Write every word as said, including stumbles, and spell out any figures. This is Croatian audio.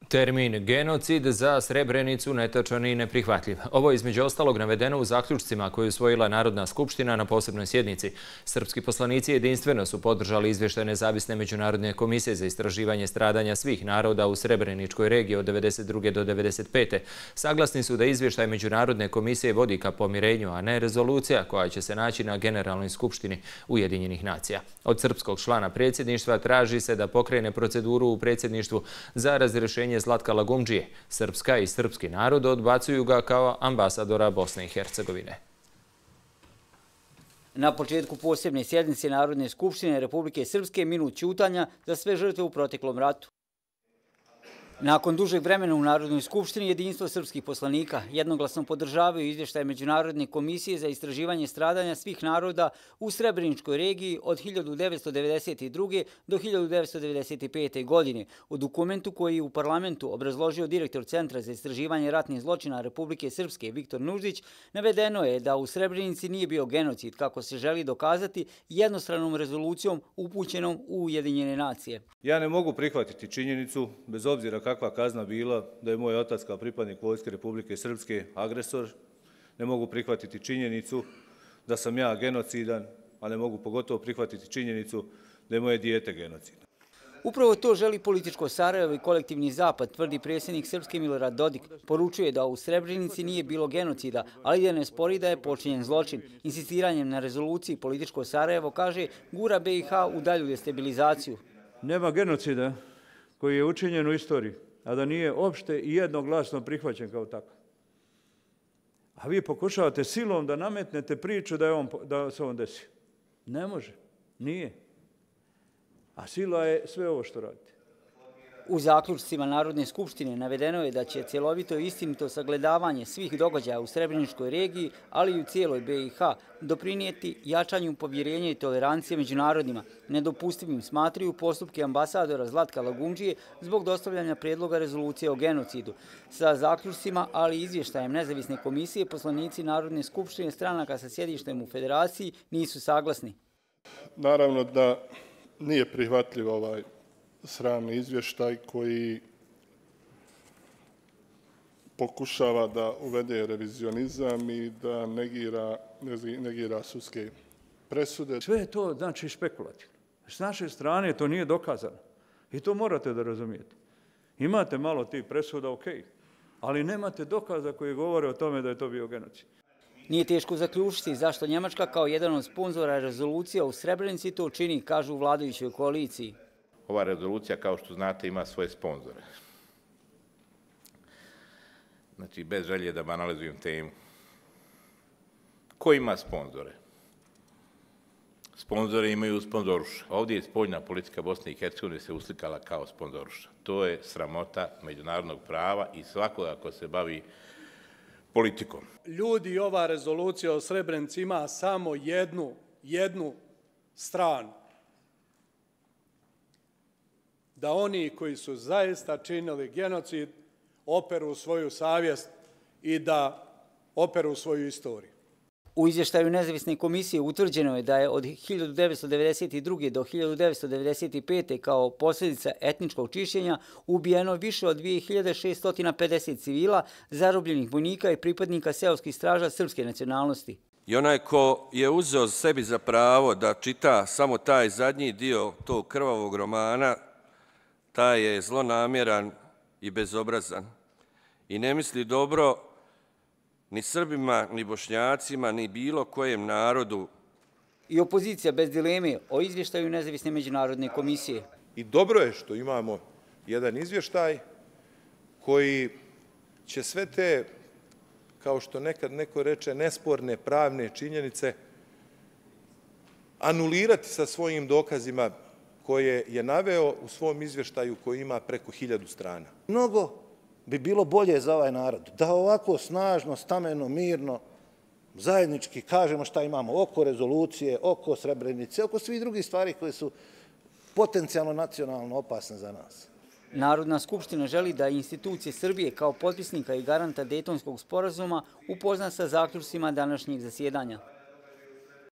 Termin genocid za Srebrenicu netačan i neprihvatljiv. Ovo je između ostalog navedeno u zaključcima koje je usvojila Narodna skupština na posebnoj sjednici. Srpski poslanici jedinstveno su podržali izvještaj Nezavisne međunarodne komisije za istraživanje stradanja svih naroda u Srebreničkoj regiji od devedeset druge do devedeset pete Saglasni su da izvještaj Međunarodne komisije vodi ka pomirenju, a ne rezolucija koja će se naći na Generalnoj skupštini Ujedinjenih nacija. Od srpskog člana predsjedništva traži se da pokrene proceduru u predsjedništvu za razrješenje Zlatka Lagumdžije. Srpska i srpski narod odbacuju ga kao ambasadora Bosne i Hercegovine. Na početku posebne sjednice Narodne skupštine Republike Srpske minut ćutanja za sve žrtve u proteklom ratu. Nakon dužeg vremena u Narodnoj skupštini jedinstvo srpskih poslanika jednoglasno podržavaju izvještaj Međunarodne komisije za istraživanje stradanja svih naroda u Srebreničkoj regiji od hiljadu devetsto devedeset druge do hiljadu devetsto devedeset pete godine. U dokumentu koji je u parlamentu obrazložio direktor Centra za istraživanje ratnih zločina Republike Srpske Viktor Nuždić, navedeno je da u Srebrenici nije bio genocid, kako se želi dokazati jednostranom rezolucijom upućenom u Ujedinjene nacije. Ja ne mogu prihvatiti činjenicu, bez obzira kakva kazna bila, da je moj otac kao pripadnik Vojske Republike Srpske agresor. Ne mogu prihvatiti činjenicu da sam ja genocidan, a ne mogu pogotovo prihvatiti činjenicu da je moje dijete genocidan. Upravo to želi političko Sarajevo i kolektivni zapad, tvrdi predsjednik Srpske Milorad Dodik. Poručuje da u Srebrenici nije bilo genocida, ali da ne spori da je počinjen zločin. Insistiranjem na rezoluciji političko Sarajevo, kaže, gura B i H u dalju destabilizaciju. Nema genocida koji je učinjen u istoriji, a da nije opšte i jednoglasno prihvaćen kao takav. A vi pokušavate silom da nametnete priču da, je on, da se on desi. Ne može, nije. A sila je sve ovo što radite. U zaključcima Narodne skupštine navedeno je da će cjelovito i istinito sagledavanje svih događaja u Srebreničkoj regiji, ali i u cijeloj B i H, doprinijeti jačanju povjerenja i tolerancije među narodima. Nedopustivim smatraju postupke ambasadora Zlatka Lagumdžije zbog dostavljanja predloga rezolucije o genocidu. Sa zaključcima, ali i izvještajem Nezavisne komisije, poslanici Narodne skupštine stranaka sa sjedištem u Federaciji nisu saglasni. Naravno da nije prihvatljiv ovaj sramni izvještaj koji pokušava da uvede revizionizam i da negira, negira sudske presude. Sve je to znači špekulativno. S naše strane to nije dokazano. I to morate da razumijete. Imate malo tih presuda, ok, ali nemate dokaza koji govore o tome da je to bio genocid. Nije teško zaključiti zašto Njemačka kao jedan od sponzora rezolucija u Srebrenici to čini, kažu u vladajućoj koaliciji. Ova rezolucija, kao što znate, ima svoje sponzore. Znači, bez želje da banalizujem temu. Ko ima sponzore? Sponzore imaju sponzoruša. Ovdje je spoljna politika Bosne i Hercegovine se uslikala kao sponzoruša. To je sramota međunarodnog prava i svakoga ko se bavi politikom. Ljudi, ova rezolucija o Srebrenici ima samo jednu, jednu stranu. Da oni koji su zaista činili genocid operu svoju savjest i da operu svoju istoriju. U izvještaju Nezavisne komisije utvrđeno je da je od hiljadu devetsto devedeset druge do hiljadu devetsto devedeset pete kao posljedica etničkog čišćenja ubijeno više od dvije hiljade šesto pedeset civila, zarobljenih vojnika i pripadnika seoskih straža srpske nacionalnosti. I onaj ko je uzeo sebi za pravo da čita samo taj zadnji dio tog krvavog romana, taj je zlonamjeran i bezobrazan i ne misli dobro ni Srbima, ni Bošnjacima, ni bilo kojem narodu. I opozicija bez dileme o izvještaju Nezavisne međunarodne komisije. I dobro je što imamo jedan izvještaj koji će sve te, kao što nekad neko reče, nesporne pravne činjenice anulirati sa svojim dokazima koje je naveo u svom izvještaju koji ima preko hiljadu strana. Mnogo bi bilo bolje za ovaj narod da ovako snažno, stameno, mirno, zajednički kažemo šta imamo oko rezolucije, oko Srebrenice, oko svih drugih stvari koje su potencijalno nacionalno opasne za nas. Narodna skupština želi da institucije Srbije kao potpisnika i garanta Dejtonskog sporazuma upozna sa zaključcima današnjeg zasjedanja.